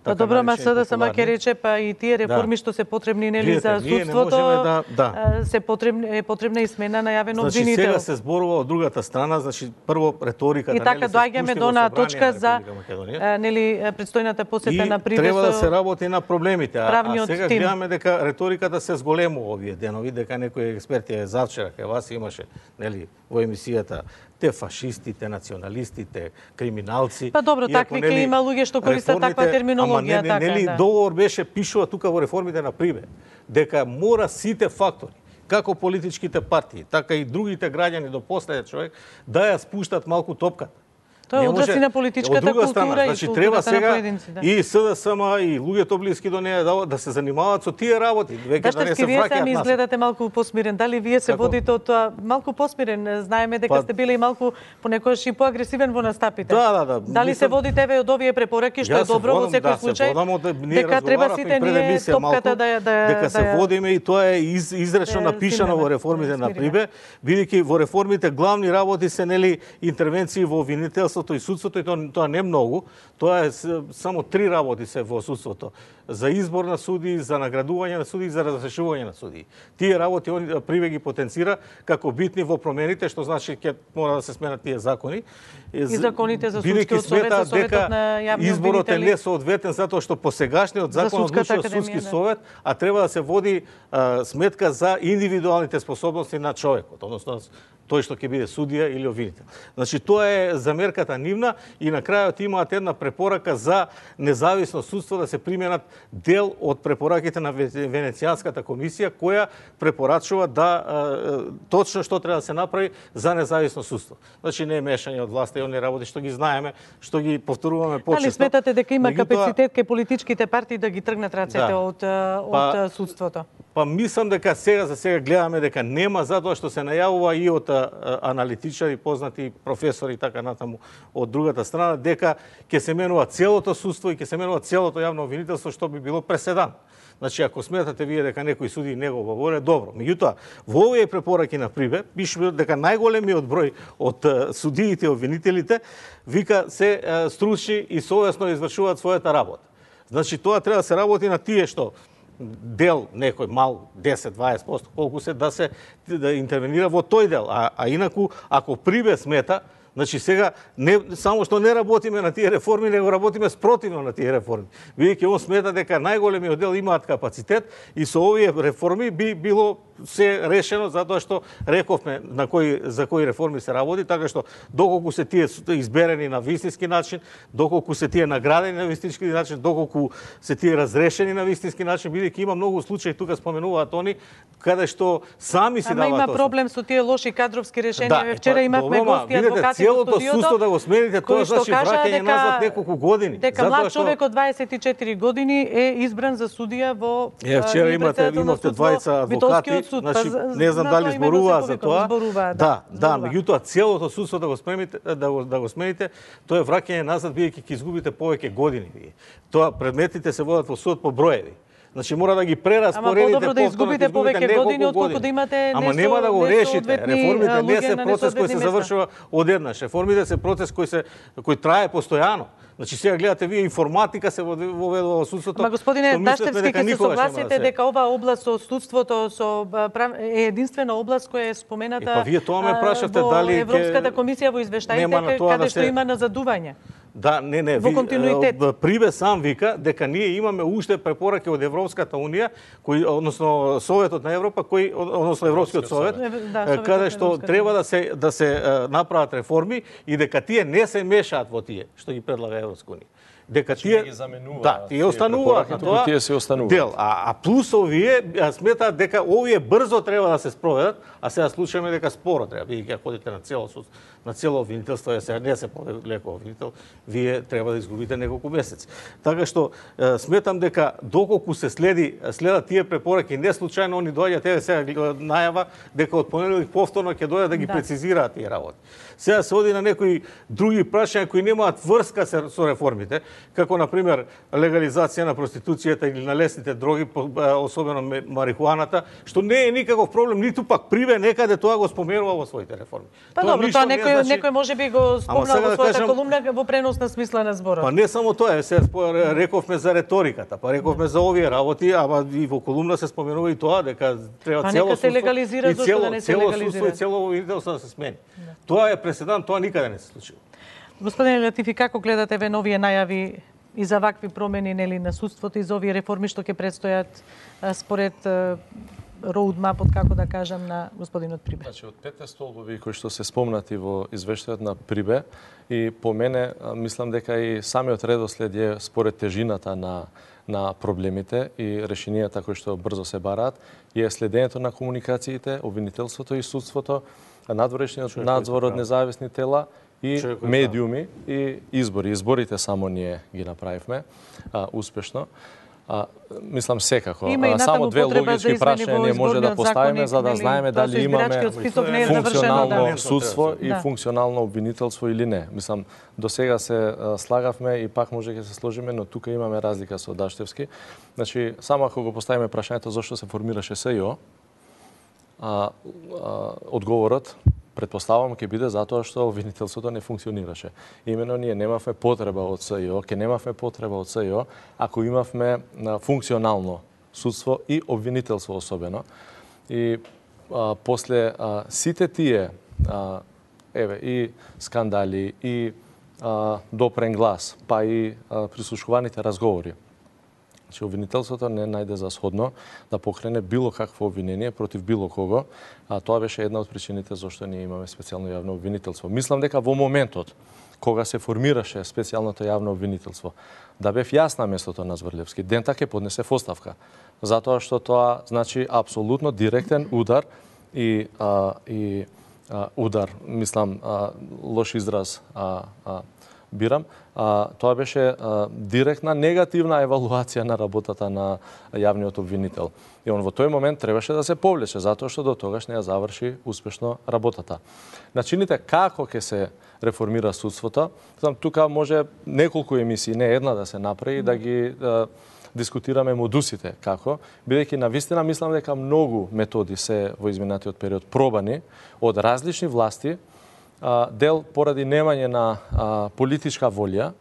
Па добро, ма СДСМ ќе рече па и тие реформи да. Што се потребни нели за судството, да, да. се потребни е потребна и смена на јавен значи, обвинител. Сега се зборува од другата страна, значи прво реториката и така нели доаѓаме до на точка за нели предстојната посета и на Прибе. Треба да се работи на проблемите, а, а сега тим. гледаме дека реториката се зголемува овие денови, дека некои експерти е завчера кај вас имаше нели во емисијата те фашистите, националистите, криминалци. Па добро, такви ќе има луѓе што користат таква терминологија, не, така нели, да. Договор беше пишува тука во реформите на Прибе, дека мора сите фактори, како политичките партии, така и другите граѓани до последен човек, да ја спуштат малку топката. Тоа е одрази на политичката култура страна, и значи, културата треба на сега поединци. Да. И СДСМ и луѓето блиски до неја да, да се занимаваат со тие работи, веќе да не се вие враќаат сами нас. изгледате малку посмирен. Дали вие се Како? водите од тоа малку посмирен? Знаеме дека па... сте били малку понекогаш и поагресивен во настапите. Да, да, да. Дали Мислам... се водите еве од овие препораки што е добро во секој случај? Да, дека треба сите ние топката да да дека се да, водиме и тоа е из, изречно да, напишано смиреме, во реформите да, на Прибе, бидејќи во реформите главни работи се нели интервенции во обвинителство обвинителството и судството, и тоа, тоа не многу, тоа е само три работи се во судството. За избор на суди, за наградување на суди и за разрешување на суди. Тие работи он Прибе ги потенцира како битни во промените, што значи ќе мора да се сменат тие закони. И законите за судскиот совет, за советот на јавни изборот е обвинители. несоодветен затоа што по сегашниот закон Судската одлучува судски академија, да. совет, а треба да се води а, сметка за индивидуалните способности на човекот, односно тој што ќе биде судија или обвинител. Значи тоа е замерката нивна и на крајот имаат една препорака за независно судство да се применат дел од препораките на Венецијанската комисија која препорачува да а, точно што треба да се направи за независно судство. Значи не е мешање од власта и оние работи што ги знаеме, што ги повторуваме почесто. Дали сметате дека има Меѓутоа, капацитет кај политичките партии да ги тргнат рацете Да. од од Па- судството? Па мислам дека сега за сега гледаме дека нема, затоа што се најавува и од а, аналитичари, познати професори и така натаму од другата страна, дека ќе се менува целото судство и ќе се менува целото јавно обвинителство, што би било преседан. Значи, ако сметате вие дека некои суди не го говоре, добро. Меѓутоа, во овие препораки на Прибе, пише дека најголемиот број од а, судиите и обвинителите, вика, се а, стручни и совесно извршуваат својата работа. Значи, тоа треба да се работи на тие што дел некој мал десет до дваесет проценти колку се да се да интервенира во тој дел, а, а инаку ако Прибе смета, значи сега не само што не работиме на тие реформи, него работиме спротивно на тие реформи. Бидејќи он смета дека најголемиот дел имаат капацитет и со овие реформи би било се решено затоа што рековме на кои за кои реформи се работи, така што доколку се тие изберени на вистински начин, доколку се тие наградени на вистински начин, доколку се тие разрешени на вистински начин, бидејќи има многу случаи, тука споменуваат они каде што сами си Ама даваат има оставка. проблем со тие лоши кадровски решенија. Да, Да, Вчера па, имавме добро, ма, гости видете, адвокати во целото студиото. судство да го смените, тоа кои што значи кажа враќање дека- назад неколку години. Дека Затоа млад што- човек од дваесет и четири години е избран за судија во Е, вчера а, имате председател на имавте суд во двајца адвокати, Битолскиот суд. значи Па, не знам на дали тоа именно зборуваа се за повикува, тоа. зборуваа, Да, да, зборуваа. меѓутоа целото судство да го смените, да го да го смените, тоа е враќање назад бидејќи ќе изгубите повеќе години вие. Тоа предметите се водат во судот по броеви. Значи мора да ги прераспоредите. Ама подобро да повторно, изгубите ќе изгубите повеќе неколку години, отколку да имате Ама несо- нема да го решите. несоодветни, Реформите а, не луѓе се на процес кој несоодветни се места. завршува одеднаш. Реформите се процес кој се кој трае постојано. Значи сега гледате вие информатика се воведува во судството. Ама господине што мислевме Таштевски, дека ќе се никогаш нема да согласите се- дека оваа област со судството со а, прав... е единствена област која е спомената Е, па вие тоа ме а, прашавте во дали ќе- Европската комисија во извештаите Нема на тоа каде да што се- има назадување. Да, не, не. Во ви- континуитет. е, Прибе сам вика дека ние имаме уште препораки од Европската унија, кои односно Советот на Европа, кои односно Европскиот совет, совет. Да, е, Советот каде на што Европската треба да се да се е, направат реформи и дека тие не се мешаат во тие што ги предлага Европска унија. Дека тие ги заменува да, тие тие остануваат препораки, на туку тоа. тие се остануваат. Дел, а, а плюс овие а, сметаат дека овие брзо треба да се спроведат, а сега случајме дека споро треба, бидејќи ако ходите на цело суд, на цело обвинителство, е сега не се полеко обвинител, вие треба да изгубите неколку месеци. Така што е, сметам дека доколку се следи следат тие препораки, не случајно они доаѓаат еве сега најава дека од понеделник повторно ќе дојдат да ги Да. прецизираат тие работи. Сега се оди на некои други прашања кои немаат врска се- со реформите, како на пример легализација на проституцијата или на лесните дроги, по- а, особено ме- марихуаната, што не е никаков проблем, ниту пак Прибе некаде тоа го споменува во своите реформи. Па добро, ништо тоа не некој значи- некој можеби го спомнал сега во да својата кажам- колумна во преносна смисла на зборот. Па не само тоа, е, се спо- рековме за реториката, па рековме за овие работи, ама и во колумна се споменува и тоа дека треба Па цело нека се судство легализира, и зошто цело, да не се цело легализира? судство и цело обвинителство да се смени. Тоа е преседан, тоа никаде не се случило. Господине Латифи, како гледате ве новие најави и за вакви промени нели на судството и за овие реформи што ќе предстојат а, според роудмапот, како да кажам, на господинот Прибе? Значи, од петте столбови кои што се спомнати во извештајот на Прибе, и по мене а, мислам дека и самиот редослед е според тежината на на проблемите и решенијата кои што брзо се бараат, е следењето на комуникациите, обвинителството и судството, надворешниот надзор од независни тела и Човекот медиуми и избори. Изборите само ние ги направивме а, успешно. А, мислам секако. Има и А, само натаму две потреба логички за измени прашања во ние може да изборниот поставиме законник, за да нели? знаеме Тоа со дали имаме избирачкиот список не е завршено, функционално да. судство и Да. функционално обвинителство или не. Мислам, до сега се а, слагавме и пак може ќе се сложиме, но тука имаме разлика со Даштевски. Значи, само ако го поставиме прашањето зошто се формираше СЈО, а, а, одговорот Предпоставувам ќе биде затоа што обвинителството не функционираше. Имено ние немавме потреба од СИО, ќе немавме потреба од СИО ако имавме функционално судство и обвинителство особено. И а, после а, сите тие а, еве и скандали и а, допрен глас, па и а, прислушуваните разговори, че обвинителството не најде за сходно да покрене било какво обвинение против било кого, а тоа беше една од причините зашто ние имаме специјално јавно обвинителство. Мислам дека во моментот кога се формираше специјалното јавно обвинителство, да бев јас на местото на Зврлевски, дента ќе поднесе оставка, затоа што тоа значи апсолутно директен удар и а, и а, удар, мислам, а, лош израз а, а, бирам, а, тоа беше а, директна негативна евалуација на работата на јавниот обвинител. И он во тој момент требаше да се повлече, затоа што до тогаш не ја заврши успешно работата. Начините како ќе се реформира судството, знам, тука може неколку емисии, не една да се направи, да ги да, дискутираме модусите како, бидејќи навистина мислам дека многу методи се во изминатиот период пробани од различни власти, дел поради немање на а, политичка волја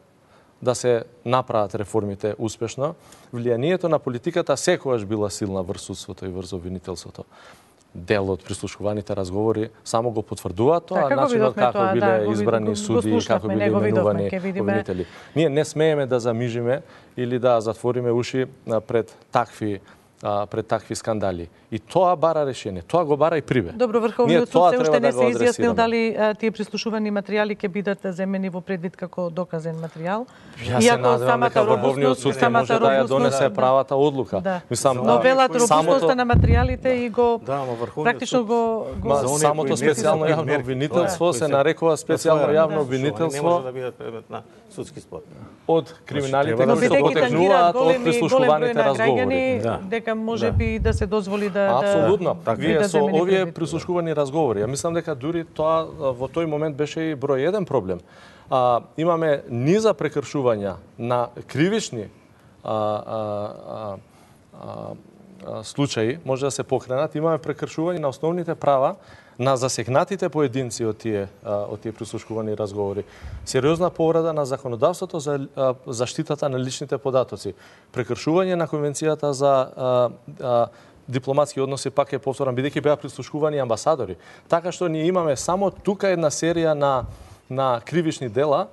да се направат реформите успешно. Влијанието на политиката секогаш била силна врз судството и врз обвинителството. Дел од прислушуваните разговори само го потврдуваат тоа, да, начинот како тоа, биле да, избрани суди, како биле именувани обвинители. Ние не смееме да замижиме или да затвориме уши пред такви пред такви скандали. И тоа бара решение. Тоа го бара и Прибе. Добро, Врховниот суд се уште да не се изјаснил дали а, тие прислушувани материјали ќе бидат земени во предвид како доказен материјал. Јас се надевам дека Врховниот суд ќе може да ја донесе правата одлука. Да. Мислам, но велат робустноста самото... на материјалите и го да, практично го, го... Ма, самото специјално јавно обвинителство се нарекува специјално јавно обвинителство. Не може да бидат предмет на судски спор. Од криминалите кои што потекнуваат од прислушуваните разговори. Дека може би да се дозволи да апсолутно. Вие со овие прислушувани разговори, ја мислам дека дури тоа во тој момент беше и број еден проблем. А, имаме низа прекршувања на кривични а, а, а, а, случаи, може да се покренат, имаме прекршување на основните права на засегнатите поединци од тие од тие прислушувани разговори. Сериозна повреда на законодавството за заштитата на личните податоци, прекршување на конвенцијата за а, а, дипломатски односи, пак е повторам, бидејќи беа прислушувани амбасадори. Така што ние имаме само тука една серија на на кривични дела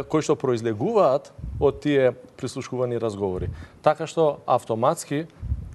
кои што произлегуваат од тие прислушувани разговори. Така што автоматски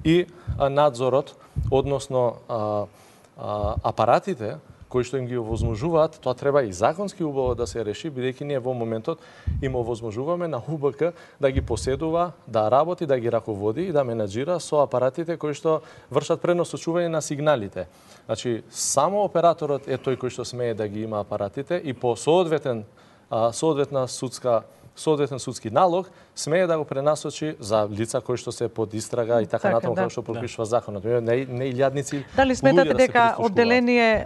и надзорот, односно а, а, апаратите кои што им ги овозможуваат, тоа треба и законски убаво да се реши, бидејќи ние во моментот им овозможуваме на У Б К да ги поседува, да работи, да ги раководи и да менаџира со апаратите кои што вршат преносочување на сигналите. Значи, само операторот е тој кој што смее да ги има апаратите и по соодветен, соодветна судска соодветен судски налог смее да го пренасочи за лица кои што се под истрага и така, така натаму како што пропишува законот. Не не илјадници. Дали сметате дека одделение,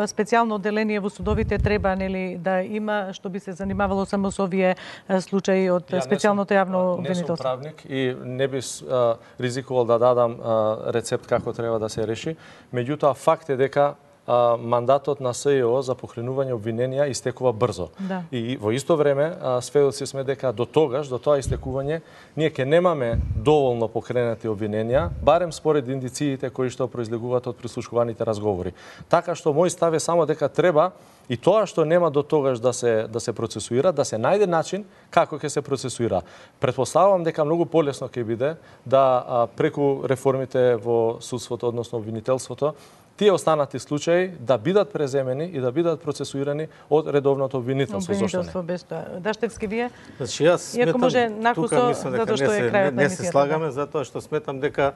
специјално одделение во судовите треба нели да има, што би се занимавало само со овие случаи од специјалното јавно обвинителство? Не сум правник и не би ризикувал да дадам рецепт како треба да се реши, меѓутоа факт е дека мандатот на С И О за покренување обвиненија истекува брзо. Да. И во исто време сведоци сме дека до тогаш, до тоа истекување, ние ќе немаме доволно покренати обвиненија, барем според индициите кои што произлегуваат од прислушуваните разговори. Така што мој став е само дека треба и тоа што нема до тогаш да се да се процесуира, да се најде начин како ќе се процесуира. Претпоставувам дека многу полесно ќе биде да а, преку реформите во судството, односно обвинителството, тие останати случаи да бидат преземени и да бидат процесуирани од редовното обвинителство. Обвинителство без тоа. Даштевски вие? Значи јас сметам, може накусо, затоа што е крајот на не се слагаме, затоа што сметам дека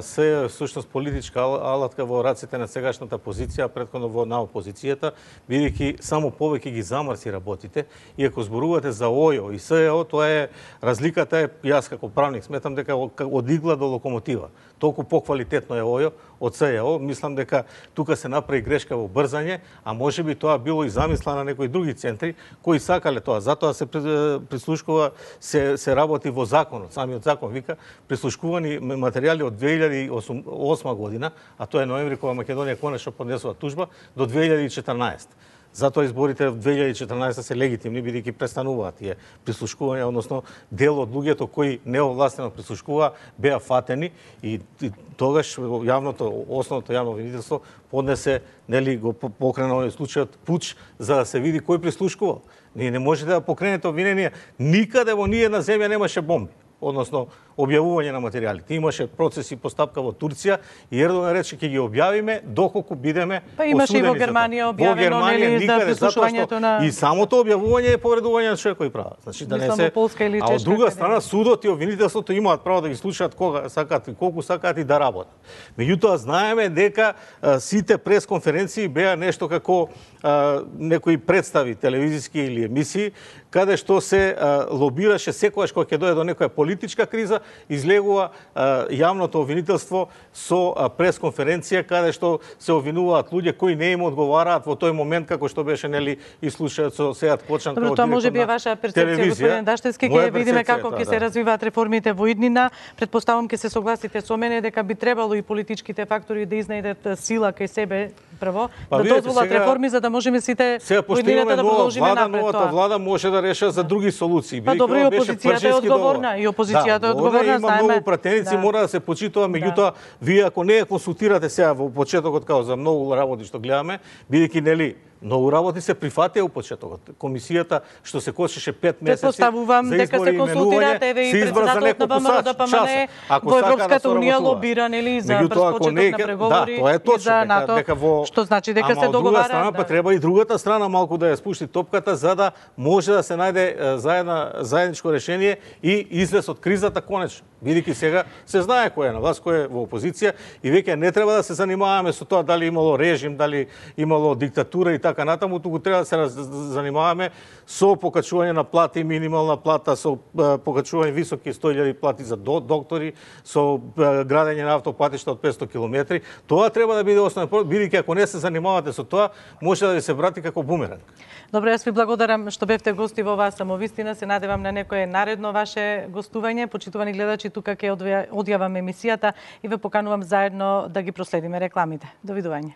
се всушност политичка алатка во раците на сегашната позиција, претходно во на опозицијата, бидејќи само повеќе ги замрси работите. И ако зборувате за ОЈО и С Е О, тоа е разликата е, јас како правник сметам дека од игла до локомотива. Толку поквалитетно е ОЈО, од С Ј О. Мислам дека тука се направи грешка во брзање, а можеби тоа било и замисла на некои други центри кои сакале тоа. Затоа се прислушкува, се се работи во законот. Самиот закон вика прислушкувани материјали од две илјади и осма година, а тоа е ноември кога Македонија конечно поднесува тужба, до две илјади и четрнаесетта. Затоа изборите во две илјади и четрнаесетта се легитимни, бидејќи престануваат тие прислушкувања, односно дел од луѓето кои неовластено прислушкуваа беа фатени и, и тогаш јавното, основното јавно обвинителство поднесе, нели, го покрена овој случајот пуч за да се види кој прислушкувал. Ние не можете да покренете обвинение, никаде во ни една земја немаше бомби, односно објавување на материјалите. Имаше процеси постапка во Турција и Ердоган рече ќе ги објавиме доколку бидеме осудени. Па имаше и во Германија објавено, нели, за прислушувањето на... И самото објавување е повредување на човекови права. Значи да не се... Полска или а од друга страна судот и обвинителството имаат право да ги слушаат кога сакаат и колку сакаат и да работат. Меѓутоа знаеме дека а, сите пресконференции беа нешто како а, некои представи телевизиски или емисии каде што се а, лобираше секогаш кога ќе дојде до некоја политичка криза, излегува а, јавното обвинителство со а, пресконференција каде што се обвинуваат луѓе кои не им одговараат во тој момент, како што беше, нели, и случајот со Сејат Кочан. Добро, тоа може би е ваша перцепција, господин Даштевски, ќе видиме како ќе се развиваат реформите во иднина. Предпоставам ќе се согласите со мене дека би требало и политичките фактори да изнајдат сила кај себе прво, па, да видите, дозволат сега, реформи за да можеме сите во иднината да продолжиме влада, напред. Новата влада може да реша за други солуции. Па добро, и опозицијата е одговорна, и опозицијата да, е одговорна, има знаеме. многу пратеници, да. мора да се почитува, меѓутоа вие ако не ја консултирате сега во почетокот као за многу работи што гледаме, бидејќи нели многу работи се прифатија у почетокот. Комисијата што се кочеше пет месеци Предпоставувам за дека се консултирате, еве и председателот на ВМРО ДПМН во Европската унија лобира, нели, за брз почеток на преговори, да, тоа е точно, за НАТО, дека во... што значи дека Ама, се договараат. Ама од друга страна, да. па треба и другата страна малку да ја спушти топката за да може да се најде заедна заедничко решение и излез од кризата конечно. Бидејќи сега се знае кој е на власт, кој е во опозиција и веќе не треба да се занимаваме со тоа дали имало режим, дали имало диктатура и така натаму, туку треба да се занимаваме со покачување на плати, минимална плата, со покачување високи сто илјади плати за доктори, со градење на автопатишта од петсто километри. Тоа треба да биде основен, бидејќи ако не се занимавате со тоа, може да ви се врати како бумеранг. Добро, јас ви благодарам што бевте гости во оваа самовистина. Се надевам на некое наредно ваше гостување. Почитувани гледачи, тука ќе одјавам емисијата и ве поканувам заедно да ги проследиме рекламите. Довидување.